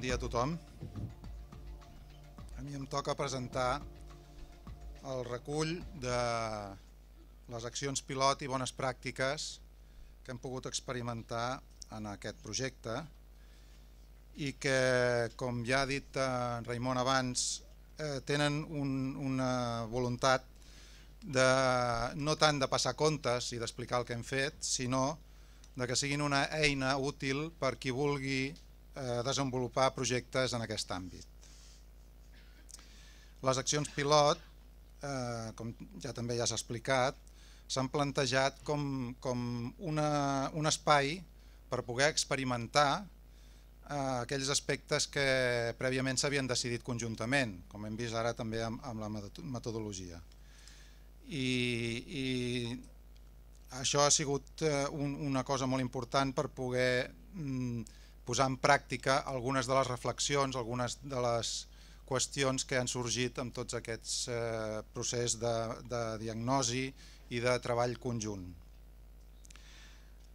dia a tothom. A mi em toca presentar el recull de les accions pilot i bones pràctiques que hem pogut experimentar en aquest projecte i que, com ja ha dit en Raimon abans, tenen una voluntat de no tant de passar comptes i d'explicar el que hem fet, sinó de que siguin una eina útil per qui vulgui desenvolupar projectes en aquest àmbit. Les accions pilot, com ja també ja s'ha explicat, s'han plantejat com un espai per poder experimentar aquells aspectes que prèviament s'havien decidit conjuntament, com hem vist ara també amb la metodologia. I això ha sigut una cosa molt important per poder posar en pràctica algunes de les reflexions, algunes de les qüestions que han sorgit amb tots aquests processos de diagnosi i de treball conjunt.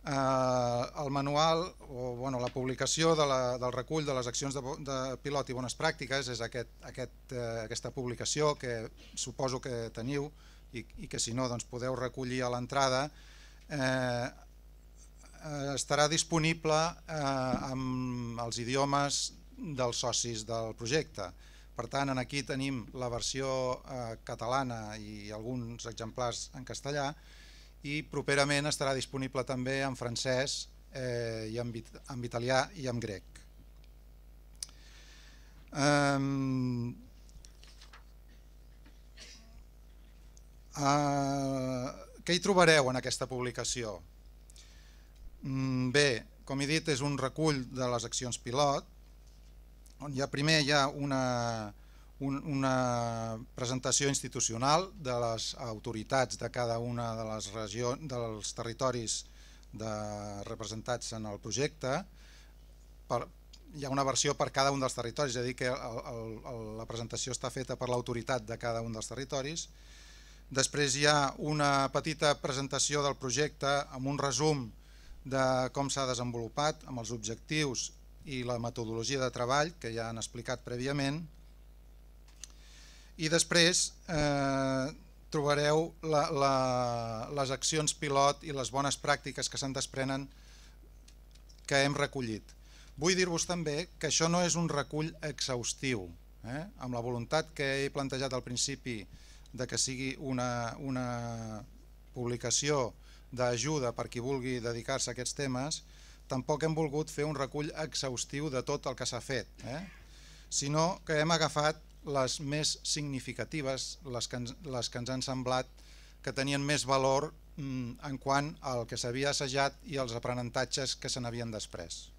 El manual, o la publicació del recull de les accions de pilot i bones pràctiques és aquesta publicació que suposo que teniu i que si no podeu recollir a l'entrada. Estarà disponible amb els idiomes dels socis del projecte. Per tant, aquí tenim la versió catalana i alguns exemplars en castellà i properament estarà disponible també en francès, en italià i en grec. Què hi trobareu en aquesta publicació? Bé, com he dit, és un recull de les accions pilot, on primer hi ha una presentació institucional de les autoritats de cada una de les regions, dels territoris representats en el projecte. Hi ha una versió per cada un dels territoris, és a dir, que la presentació està feta per l'autoritat de cada un dels territoris. Després hi ha una petita presentació del projecte amb un resum de com s'ha desenvolupat, amb els objectius i la metodologia de treball que ja han explicat prèviament. I després trobareu les accions pilot i les bones pràctiques que se'n desprenen que hem recollit. Vull dir-vos també que això no és un recull exhaustiu, amb la voluntat que he plantejat al principi de que sigui una publicació d'ajuda per qui vulgui dedicar-se a aquests temes. Tampoc hem volgut fer un recull exhaustiu de tot el que s'ha fet, sinó que hem agafat les més significatives, les que ens han semblat que tenien més valor en quant al que s'havia assajat i als aprenentatges que se n'havien desprès.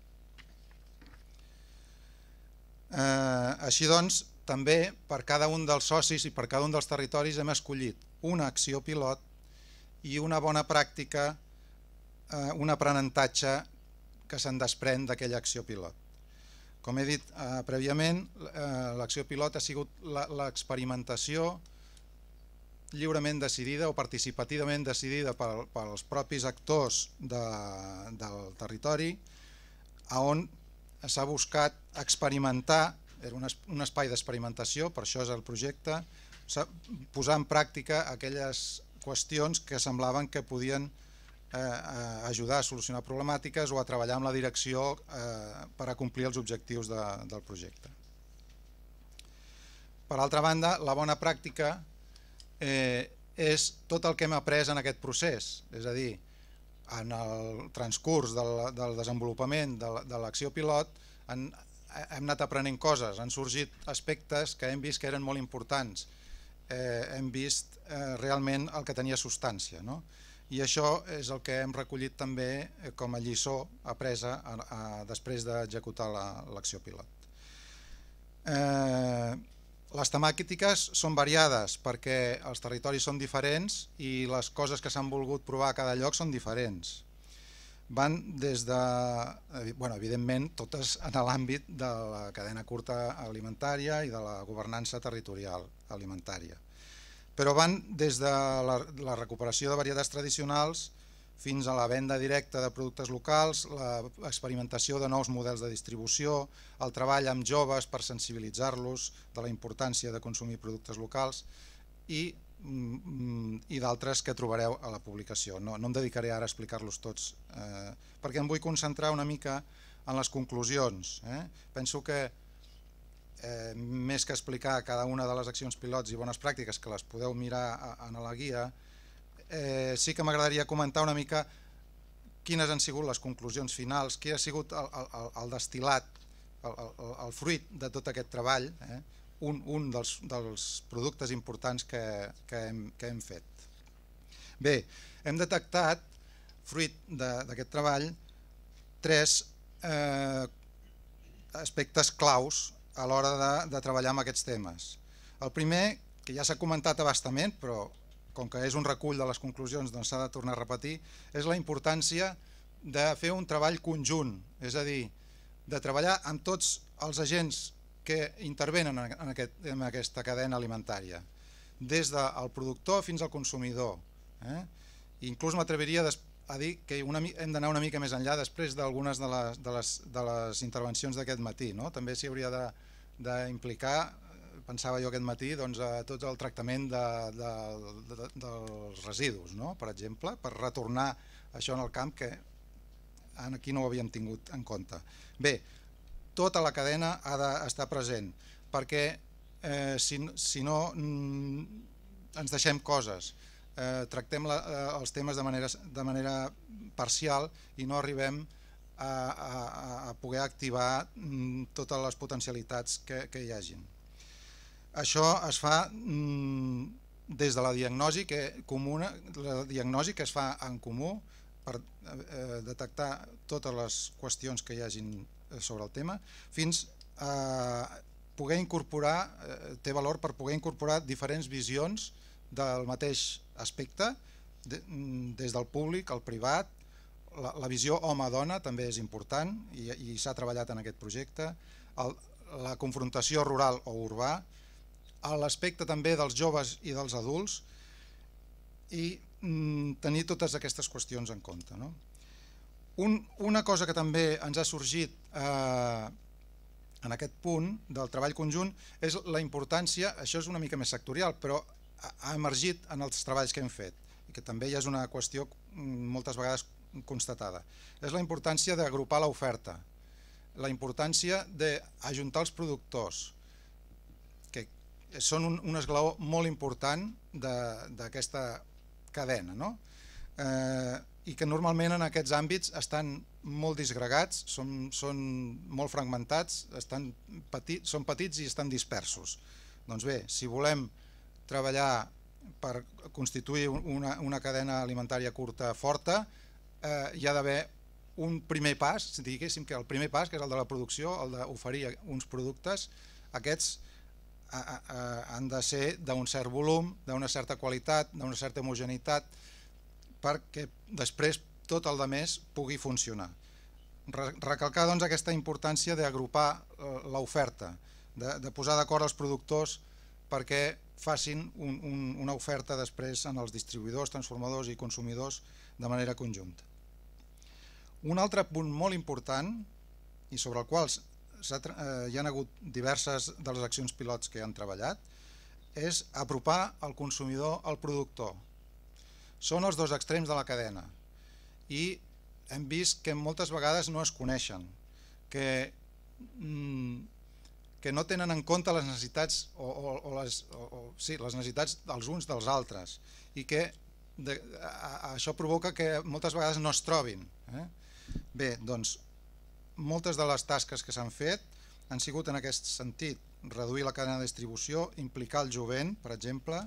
Així doncs, també per cada un dels socis i per cada un dels territoris hem escollit una acció pilot i una bona pràctica, un aprenentatge que se'n desprèn d'aquella acció pilot. Com he dit prèviament, l'acció pilot ha sigut l'experimentació lliurement decidida o participativament decidida pels propis actors del territori, on s'ha buscat experimentar, era un espai d'experimentació, per això és el projecte, posar en pràctica aquelles qüestions que semblaven que podien ajudar a solucionar problemàtiques o a treballar amb la direcció per a complir els objectius del projecte. Per altra banda, la bona pràctica és tot el que hem après en aquest procés, és a dir, en el transcurs del desenvolupament de l'acció pilot hem anat aprenent coses, han sorgit aspectes que hem vist que eren molt importants, hem vist realment el que tenia substància, i això és el que hem recollit també com a lliçó apresa després d'executar l'acció pilot. Les temàtiques són variades perquè els territoris són diferents i les coses que s'han volgut provar a cada lloc són diferents. Van des de, evidentment, totes en l'àmbit de la cadena curta alimentària i de la governança territorial alimentària. Però van des de la recuperació de varietats tradicionals fins a la venda directa de productes locals, l'experimentació de nous models de distribució, el treball amb joves per sensibilitzar-los de la importància de consumir productes locals i d'altres que trobareu a la publicació. No em dedicaré ara a explicar-los tots perquè em vull concentrar una mica en les conclusions. Penso que més que explicar cada una de les accions pilots i bones pràctiques, que les podeu mirar en la guia, sí que m'agradaria comentar una mica quines han sigut les conclusions finals, quin ha sigut el destil·lat, el fruit de tot aquest treball, un dels productes importants que hem fet. Bé, hem detectat, fruit d'aquest treball, 3 aspectes claus a l'hora de treballar amb aquests temes. El primer, que ja s'ha comentat a bastament, però com que és un recull de les conclusions doncs s'ha de tornar a repetir, és la importància de fer un treball conjunt, és a dir, de treballar amb tots els agents que intervenen en aquesta cadena alimentària, des del productor fins al consumidor. Inclús m'atreviria a dir que hem d'anar una mica més enllà després d'algunes de les intervencions d'aquest matí. També s'hi hauria d'implicar, pensava jo aquest matí, tot el tractament dels residus, per exemple, per retornar això en el camp, que aquí no ho havíem tingut en compte. Bé, tota la cadena ha d'estar present, perquè si no ens deixem coses, tractem els temes de manera parcial i no arribem a poder activar totes les potencialitats que hi hagin. Això es fa des de la diagnosi que es fa en comú per detectar totes les qüestions que hi hagin sobre el tema, fins a poder incorporar, té valor per poder incorporar diferents visions del mateix aspecte, des del públic, el privat, la visió home-dona també és important i s'ha treballat en aquest projecte, la confrontació rural o urbà, l'aspecte també dels joves i dels adults i tenir totes aquestes qüestions en compte. Una cosa que també ens ha sorgit en aquest punt del treball conjunt és la importància, això és una mica més sectorial, però ha emergit en els treballs que hem fet i que també ja és una qüestió moltes vegades constatada. És la importància d'agrupar l'oferta, la importància d'ajuntar els productors, que són un esglaó molt important d'aquesta cadena, i que normalment en aquests àmbits estan molt disgregats, són molt fragmentats, són petits i estan dispersos. Doncs bé, si volem treballar per constituir una cadena alimentària curta forta, hi ha d'haver un primer pas, diguéssim que el primer pas, que és el de la producció, el d'oferir uns productes, aquests han de ser d'un cert volum, d'una certa qualitat, d'una certa homogeneïtat, perquè després tot el més pugui funcionar. Recalcar doncs aquesta importància d'agrupar l'oferta, de posar d'acord els productors perquè facin una oferta després en els distribuïdors, transformadors i consumidors de manera conjunta. Un altre punt molt important i sobre el qual hi ha hagut diverses de les accions pilots que han treballat és apropar el consumidor al productor. Són els dos extrems de la cadena i hem vist que moltes vegades no es coneixen, que no tenen en compte les necessitats les necessitats dels uns dels altres i que això provoca que moltes vegades no es trobin. Bé, doncs moltes de les tasques que s'han fet han sigut en aquest sentit: reduir la cadena de distribució, implicar el jovent, per exemple.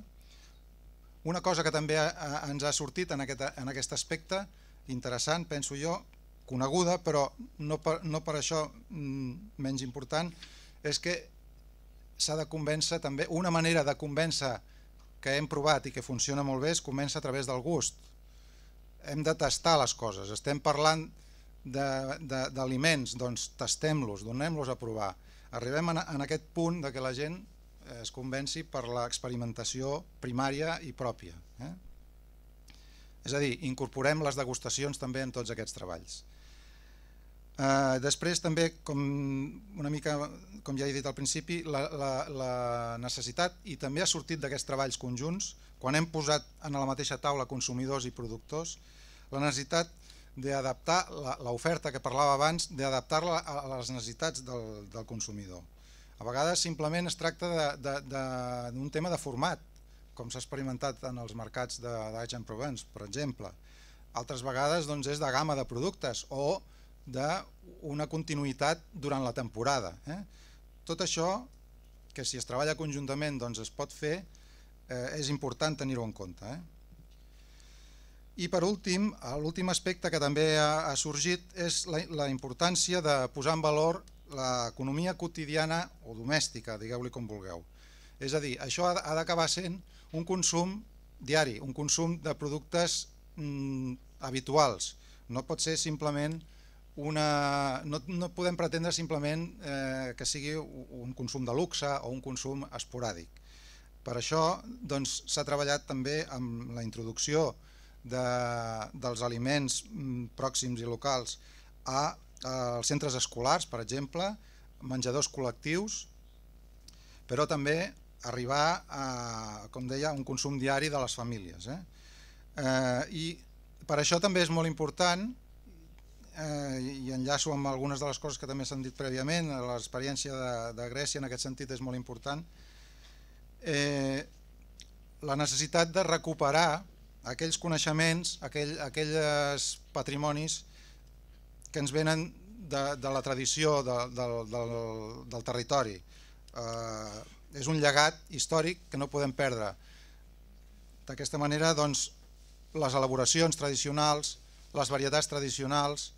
Una cosa que també ens ha sortit en aquest aspecte, interessant, penso jo, coneguda, però no per això menys important, és que s'ha de convèncer també, una manera de convèncer que hem provat i que funciona molt bé es comença a través del gust. Hem de tastar les coses, estem parlant d'aliments, doncs tastem-los, donem-los a provar. Arribem en aquest punt que la gent es convenci per l'experimentació primària i pròpia. És a dir, incorporem les degustacions també en tots aquests treballs. Després també, una mica com ja he dit al principi, la necessitat, i també ha sortit d'aquests treballs conjunts, quan hem posat en la mateixa taula consumidors i productors, la necessitat d'adaptar l'oferta que parlava abans, d'adaptar-la a les necessitats del consumidor. A vegades simplement es tracta d'un tema de format, com s'ha experimentat en els mercats d'Aix-en-Provence, per exemple. Altres vegades és de gamma de productes o d'una continuïtat durant la temporada. Tot això, que si es treballa conjuntament es pot fer, és important tenir-ho en compte. I per últim, l'últim aspecte que també ha sorgit és la importància de posar en valor l'economia quotidiana o domèstica, digueu-li com vulgueu. És a dir, això ha d'acabar sent un consum diari, un consum de productes habituals. No pot ser simplement no podem pretendre simplement que sigui un consum de luxe o un consum esporàdic. Per això s'ha treballat també amb la introducció dels aliments pròxims i locals als centres escolars, per exemple, menjadors col·lectius, però també arribar a, com deia, un consum diari de les famílies. I per això també és molt important, i enllaço amb algunes de les coses que també s'han dit prèviament, l'experiència de Grècia en aquest sentit és molt important, la necessitat de recuperar aquells coneixements, aquells patrimonis que ens venen de la tradició del territori. És un llegat històric que no podem perdre. D'aquesta manera, les elaboracions tradicionals, les varietats tradicionals,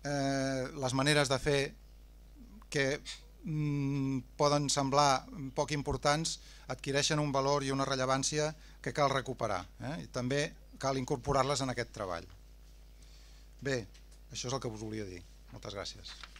les maneres de fer que poden semblar poc importants adquireixen un valor i una rellevància que cal recuperar. I també cal incorporar-les en aquest treball. Bé, això és el que us volia dir. Moltes gràcies.